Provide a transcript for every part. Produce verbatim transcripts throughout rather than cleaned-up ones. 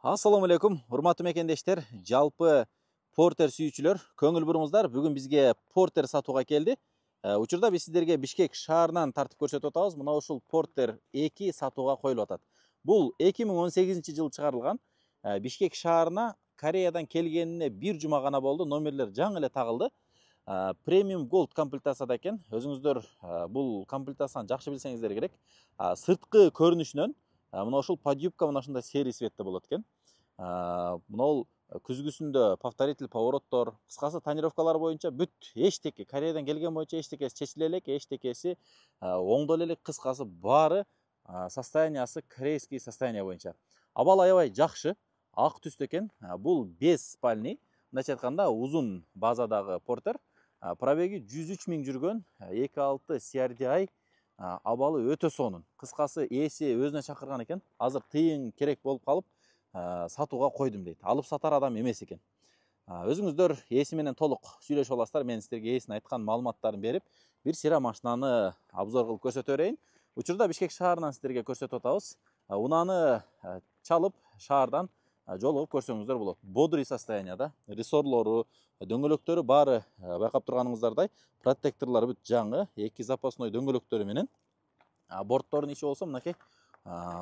Assalamu alaikum, урматтуу мекендештер, жалпы Porter сүйүүчүлөр, көңүл буруңуздар. Бүгүн бизге Porter сатууга келди. Учурда биз сиздерге Бишкек шаарынан тартып көрсөтүп атабыз. Мына ушул Porter эки сатууга коюлуп атат. Бул эки миң он сегизинчи жылы чыгарылган. Бишкек шаарына Кореядан келгенине бир жума гана болду. Номерлер жаңы эле тагылды. Premium Gold комплектацияда экен. Өзүңүздөр бул комплектацияны жакшы билсеңиздер керек. Сырткы көрүнүшүнөн мына ушул подъюбка мына ушундай серый светте болот экен. Мына күзгүсүндө повторитель повороттор, кыскасы тонировкалар боюнча бүт эчтеке Кореядан келген боюнча эчтекеси чечиле элек, эчтекеси оңдоло элек, кыскасы баары состояниясы корейский состояние боюнча. Абал аябай жакшы, ак түстө экен. Бул беш спальный, мындайча айтканда узун базадагы Porter. Пробеги жүз үч миң жүргөн, эки алты си ар ди ай, абалы өтө сонун. Кыскасы ээси өзүнө чакырган экен. Азыр тыйын керек болуп калып, сатууга койдум дейт. Алып сатар адам эмес экен. Өзүңүздөр ээси менен толук сүйлөшүп аласыздар. Мен сиздерге ээсин айткан маалыматтарын берип, бир сыйра машинаны обзор кылып көрсөтө берейин. Учурда Бишкек шаарынан сиздерге көрсөтүп атабыз. Унааны чалып шаардан жолугуп көрсөңүздөр болот. Бодрый состоянияда, рессорлору, дөңгөлөктөрү баары байкап турганыңыздардай, протекторлору бүт жаңы, эки запасной дөңгөлөктөрү менен. Борттордун ичи болсо мынакей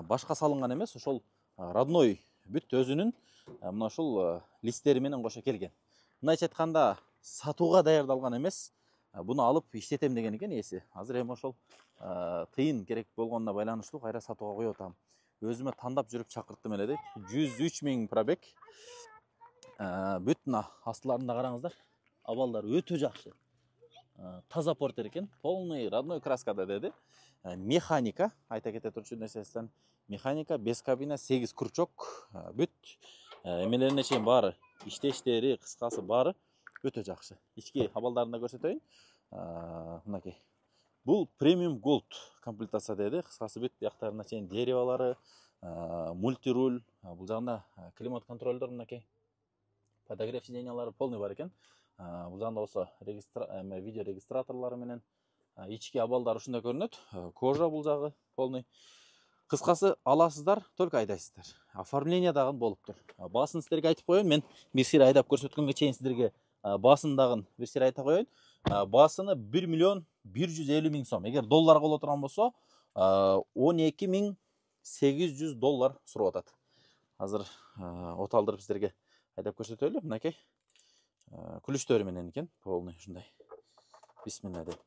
башка салынган эмес, ошол родной бүт өзүнүн мына ушул листтери менен кошо келген. Мындайча айтканда сатууга даярдалган эмес. Буну алып иштетем деген экен ээси. Азыр эми ошол тыйын керек болгонуна байланыштуу кайра сатууга коюп атам. Өзүмө тандап жүрүп чакырттым эле дейт. жүз үч миң пробег. Бүт мына астыларында караңыздар. Абалдар өтө жакшы. Таза Porter экен. Полный родной краскада деди. Механика, айта кете турчу нерседен, механика, без кабина, сегиз крючок, бүт эмелерине чейин баары, иштештери, кыскасы баары өтө жакшы. Ички абалдарын да көрсөтөйүн. Мынакей. Бул Premium Gold комплектация деди. Кыскасы бүт бияктарына чейин деревалары, мультируль, бул жагында климат контролдор мынакей. Подогрев сиденьялары полный бар экен. Бул жагында болсо видео регистраторлору менен ички абалдар ушундай көрүнөт. Кожа бул жагы полный. Кыскасы аласыздар, только айдайсыздар. Оформление дагы болуптур. Басын сиздерге айтып коеюн. Мен бир сыйра айдап көрсөткөнгө чейин сиздерге басын дагы бир сыйра айта коеюн. Басыны бир миллион бир жүз элүү миң сом. Эгер доллар боло турган болсо, он эки миң сегиз жүз доллар сурап атат. Азыр оталдырып сиздерге айдап көрсөтөлү. Мынакей. Күлүштөрү менен экен, полный ушундай. Бисмилла деп.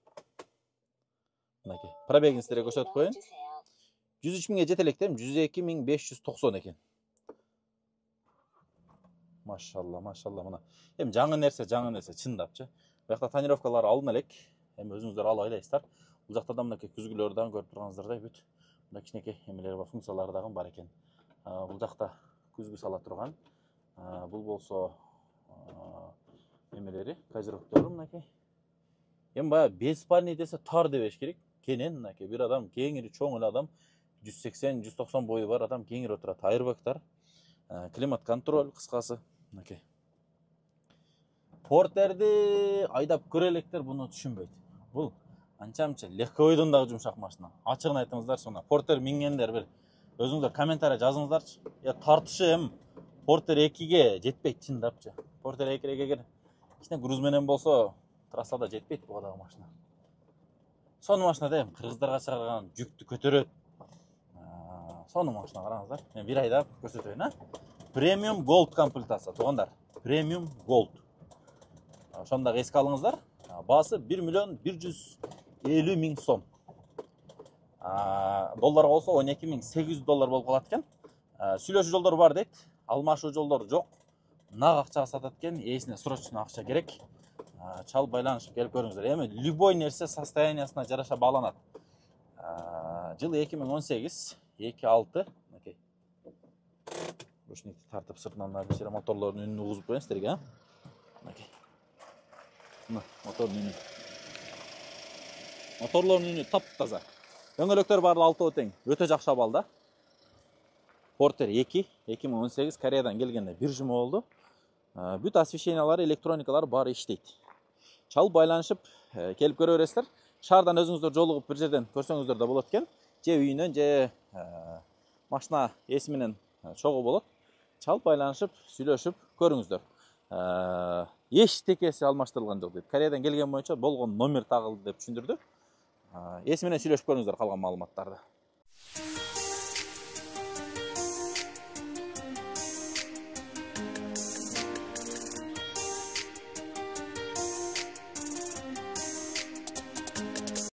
Мынакей. Пробегин сиздерге көрсөтүп коеюн. жүз үч миңге жете элек дейм, жүз эки миң беш жүз токсон экен. Машалла, машалла мына. Эми жаңы нерсе, жаңы нерсе чындапчы. Буякта тонировкалар алына элек. Эми өзүңүздөр алып айдайсыздар. Бул жакта да мынакей күзгүлөрдү дагы көрүп турганыңыздардай бүт мына кичинекей эмелери бар, функциялары дагы бар экен. Бул жакта күзгү сала турган. Бул болсо эмелери, козировктору мынакей. Эми баягы беш спальный десе тар дебеш керек. Кенен мынакей бир адам, кеңири чоң эле адам, жүз сексен жүз токсон бою бар адам кеңири отурат. Айрбактар, климат контроль, кыскасы мынакей. Porterди айдап көрө электер буну түшүнбөйт. Бул анча-мынча легковойдон дагы жумшак машина. Ачыгын айтыңыздарчы, мына Porter мингендер бир өзүңүздөр комментарий жазыңыздарчы. Я тартышы эми Porter экиге жетпейт чындапчы. Porter экиге эгер кичине груз менен болсо, трассада жетпейт буга дагы машина. Сонун машина да эми кыргыздарга чыгарган жүктү көтөрөт. Сонун машина караңыздар. Мен бир айдап көрсөтөйүн, а? Premium Gold комплектация, туугандар. Premium Gold. Ошону дагы эске алыңыздар. Баасы бир миллион бир жүз элүү миң сом. Долларга болсо он эки миң сегиз жүз доллар болуп калат экен. Сүйлөшүү жолдору бар дейт. Алмашуу жолдору жок. Нак акчага сатат экен. Ээсине срочно акча керек. Чал байланышып келип көрүңүздөр. Эми любой нерсе состояниясына жараша бааланат. Жыл эки миң он сегиз, эки алты, мынакей. Ручникти тартып сыртынан бир сыйра моторлордун үнүн угузуп коеюн сиздерге, а? Мынакей. Мына мотордун үнү. Моторлордун үнү таптаза. Дөңгөлөктөр баары алтоо тең. Өтө жакшы абалда. Porter эки, эки миң он сегиз, Кореядан келгенде бир жума болду. Бүт освещениялары, электроникалары баары иштейт. Чал байланышып келип көрө бересиздер. Шаардан өзүңүздөр жолугуп бир жерден көрсөңүздөр да болот экен. Же үйүнөн, же машина ээси менен чогуу болот. чалып байланышып сүйлөшүп көрүңүздөр. Эчтекеси алмаштырылган жок дейт. Кореядан келген боюнча болгон номер тагылды деп түшүндүрдү. Эси менен сүйлөшүп көрүңүздөр калган маалыматтарды.